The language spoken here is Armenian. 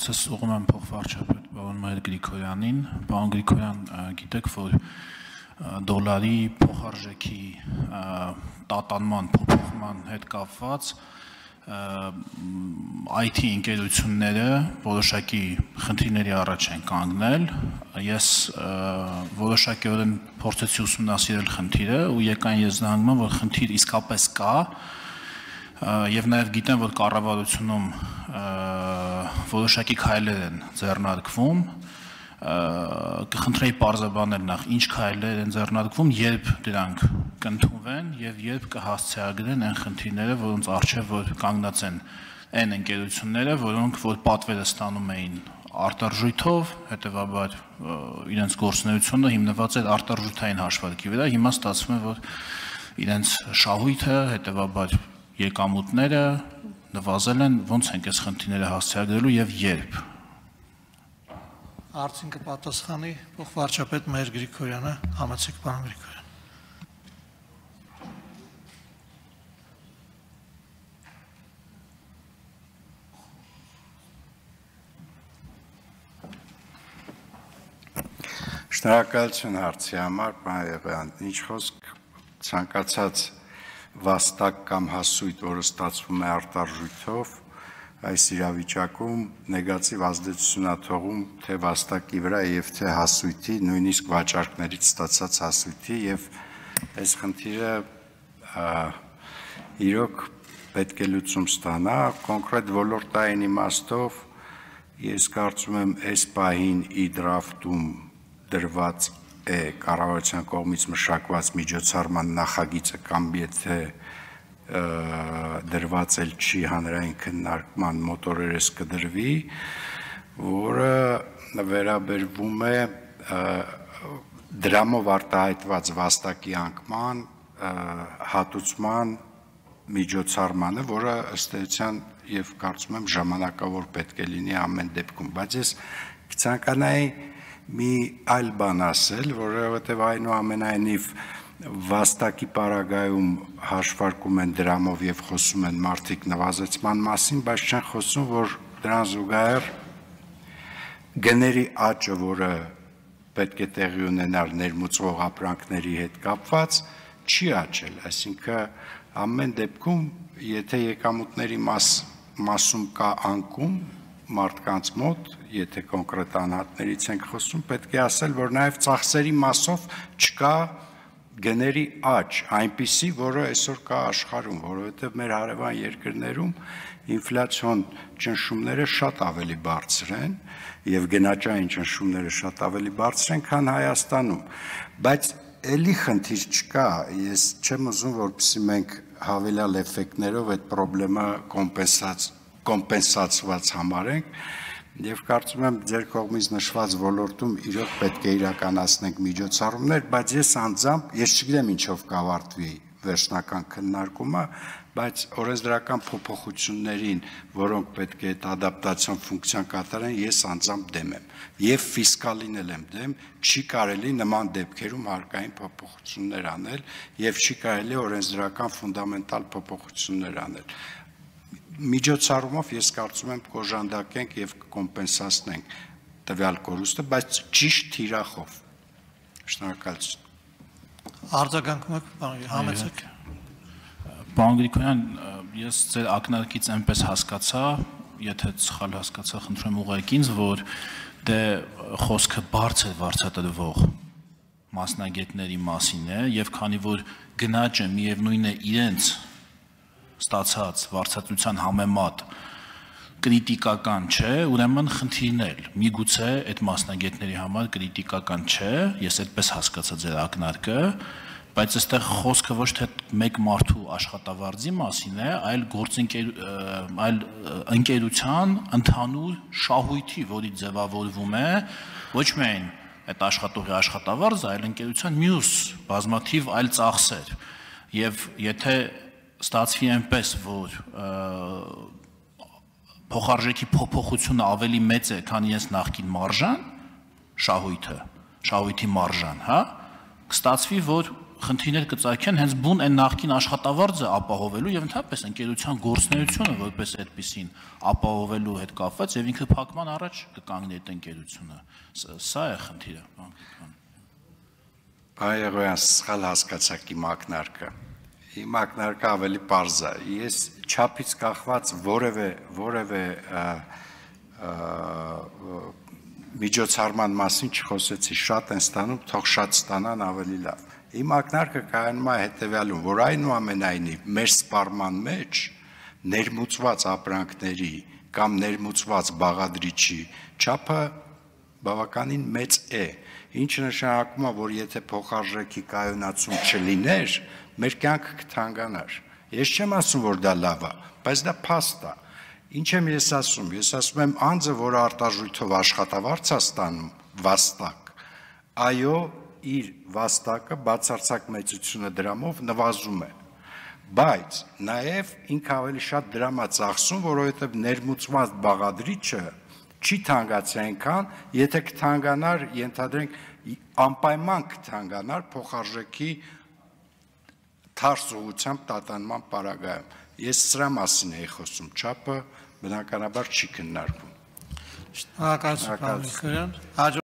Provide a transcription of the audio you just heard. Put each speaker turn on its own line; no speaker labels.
Հարցս ուղղում եմ փոխվարչապետ պարոն Մայր Գրիգորյանին։ Պարոն Գրիգորյան, գիտեք, որ դոլարի փոխարժեքի տատանման, փոփոխման հետ կապված IT ընկերությունները որոշակի խնդիրների առաջ են կանգնել։ Ես որոշակիորեն փորձեցի ուսումնասիրել խնդիրը ու եկան եզրահանգման, որ խնդիր իսկապես կա, եւ նաեւ գիտեմ, որ կառավարությունում որոշակի քայլեր են ձեռնարկվում, կխնդրեի պարզաբանել նախ ինչ քայլեր են ձեռնարկվում, երբ դրանք կընդունվեն եւ երբ կհասցեագրեն այն խնդիրները, որոնց առջեւ որ կանգնած են այն ընկերությունները, որոնք որ պատվերը ստանում էին արտարժույթով, հետեւաբար իրենց գործունեությունը հիմնված էր արտարժութային հաշվարկի վրա, հիմա ստացվում է, որ իրենց շահույթը, հետեւաբար եկամուտները նվազել են, ոնց ենք այս խնդիրները հասցեագրելու եւ երբ։
Հարցին կպատասխանի փոխվարչապետ Մայր Գրիգորյանը, համեցեք պարոն Գրիգորյան։
Շնորհակալություն հարցի համար, պարոն Եղեյան, ինչ խոսք ցանկացած վաստակ կամ հասույթ, որը ստացվում է արտարժույթով, այս իրավիճակում նեգատիվ ազդեցություն է թողում թե վաստակի վրա եւ թե հասույթի, նույնիսկ վաճառքներից ստացած հասույթի եւ այս խնդիրը իրոք պետք է լուծում ստանա, կոնկրետ ոլորտային իմաստով ես կարծում եմ այս պահին իդրաֆտում դրված է կառավարության կողմից մշակված միջոցառման նախագիծը կամ եթե դրված էլ չի հանրային քննարկման մոտորերս կդրվի, որը վերաբերվում է դրամով արտահայտված վաստակի անկման հատուցման միջոցառմանը, որը ըստ էության եւ կարծում եմ ժամանակավոր պետք է լինի ամեն դեպքում, բայց ես կցանկանայի մի այլ բան ասել, որովհետև այնուամենայնիվ վաստակի պարագայում հաշվարկում են դրամով եւ խոսում են մարդիկ նվազեցման մասին, բայց չեն խոսում, որ դրան զուգահեռ գների աճը, որը պետք է տեղի ունենար ներմուծվող ապրանքների հետ կապված, չի աճել, այսինքն ամեն դեպքում, եթե եկամուտների մասում կա անկում մարդկանց մոտ, եթե կոնկրետ անհատներից ենք խոսում, պետք է ասել, որ նաև ծախսերի մասով չկա գների աճ, այնպիսի, որը այսօր կա աշխարհում, որովհետև մեր հարևան երկրներում ինֆլյացիոն ճնշումները շատ ավելի բարձր են եւ գնաճային ճնշումները շատ ավելի բարձր են, քան Հայաստանում, բայց էլի խնդիր չկա, ես չեմ ուզում, որպեսզի մենք հավելյալ էֆեկտներով այդ խնդրը կոմպենսացված համարենք եւ կարծում եմ ձեր կողմից նշված ոլորտում իրոք պետք է իրականացնենք միջոցառումներ, բայց ես չգիտեմ ինչով կավարտվի վերջնական քննարկումը, բայց օրենսդրական փոփոխություններին, որոնք պետք է այդ ադապտացիոն ֆունկցիան կատարեն, ես անձամբ դեմ եմ եւ ֆիսկալին էլ եմ դեմ, չի կարելի նման դեպքերում հարկային փոփոխություններ անել եւ չի կարելի օրենսդրական ֆունդամենտալ փոփոխություններ անել։ Միջոցառումով ես կարծում եմ կոժանդակենք եւ կոմպենսացնենք տվյալ կորուստը, բայց ճիշտ թիրախով։ Շնորհակալություն։
Արձագանքում եք, համեցեք։
Պարոն Գրիգորյան, ես ձեր ակնարկից այնպես հասկացա, եթե սխալ հասկացա, խնդրում եմ ուղղեք ինձ, որ դե խոսքը բարձր վարձատրվող մասնագետների մասին է եւ քանի որ գնաճը միևնույն է իրենց ստացած վարձատրության համեմատ կրիտիկական չէ, ուրեմն խնդիրներ, միգուցե այդ մասնագետների համար կրիտիկական չէ, ես այդպես հասկացա ձեր ակնարկը, բայց այստեղ խոսքը ոչ թե մեկ մարդու աշխատավարձի մասին է, այլ ընկերության ընդհանուր շահույթի, որի ձևավորվում է ոչ միայն այդ աշխատողի աշխատավարձը, այլ ընկերության մյուս բազմաթիվ այլ ծախսեր, եւ եթե ստացվի այնպես, որ փոխարժեքի փոփոխությունը ավելի մեծ է, քան իրենց նախկին մարժան, շահույթի մարժան, հա, կստացվի, որ խնդիրներ կծագեն հենց բուն այն նախկին աշխատավարձը ապահովելու եւ ընդհանրապես ընկերության գործունեությունը որպես այդպեսին ապահովելու հետ կապված եւ ինքը փակման առաջ կկանգնի այդ ընկերությունը։ Սա է խնդիրը,
Այգոյան սխալ հասկացաք իմ ակնարկը։ Իմ ակնարկը ավելի պարզ է։ Ես չափից կախված որևէ միջոցառման մասին չխոսեցի, շատ են ստանում, թող շատ ստանան ավելի լավ։ Իմ ակնարկը կայանում է հետևյալում, որ այնուամենայնիվ մեր սպառման մեջ ներմուծված ապրանքների կամ ներմուծված բաղադրիչի չափը բավականին մեծ է, ինչը նշանակում է, որ եթե փոխարժեքի կայունացում չլիներ, մեր կյանքը կթանկանար։ Ես չեմ ասում, որ դա լավ է, բայց դա փաստ է։ Ինչ եմ ես ասում։ Ես ասում եմ, անձը, որը արտաժույթով աշխատավարձ է ստանում, վաստակ, այո, իր վաստակը բացարձակ մեծությունը դրամով նվազում է, բայց նաև ինքը ավելի շատ դրամ է ծախսում, որովհետև ներմուծված բաղադրիչը չի թանկացի այնքան, եթե կթանկանար, ենթադրենք, անպայման կթանկանար փոխարժեքի թարս ուղղությամբ տատանման պարագայում։ Ես սրա մասին էի խոսում, չափը բնականաբար չի քննարկվում։
Շնորհակալություն, պարոն Գրիգորյան։